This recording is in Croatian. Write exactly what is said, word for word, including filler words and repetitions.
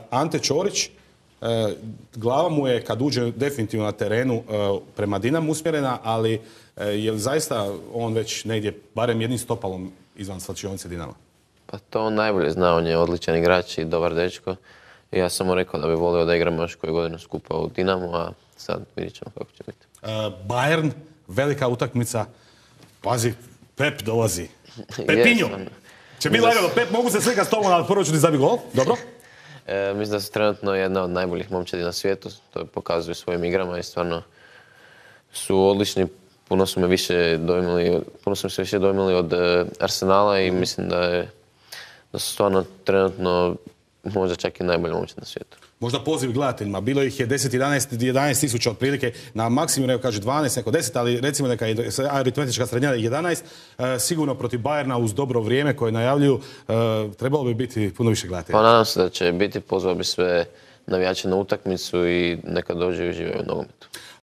Ante Ćorić, glava mu je kad uđe definitivno na terenu prema Dinamu usmjerena, ali je li zaista on već negdje barem jednim stopalom izvan slačionice Dinama? Pa to on najbolje zna, on je odličan igrač i dobar dečko. I ja sam mu rekao da bi volio da igramo još koju godinu skupa u Dinamu, a sad vidjet ćemo kako će biti. Bayern, velika utakmica. Pazi, Pep dolazi. Pepinho! Će biti lagano, Pep, mogu se slikat s tobom, ali prvo ću ti zabi gol, dobro? E, mislim da su trenutno jedna od najboljih momčadi na svijetu, to pokazuju svojim igrama i stvarno su odlični. Puno su me više dojmili, puno su me se više dojmili od e, Arsenala i mislim da, je, da su stvarno trenutno možda čak i najbolji momčad na svijetu. Možda poziv gledateljima, bilo ih je deset jedanaest tisuća otprilike, na maksimum neko kaže dvanaest, neko deset, ali recimo neka je aritmetička srednja jedanaest, e, sigurno protiv Bayerna uz dobro vrijeme koje najavljuju, e, trebalo bi biti puno više gledatelja. Pa nadam se da će biti, pozvao bi sve navijače na utakmicu i neka dođe i uživaju u nogometu.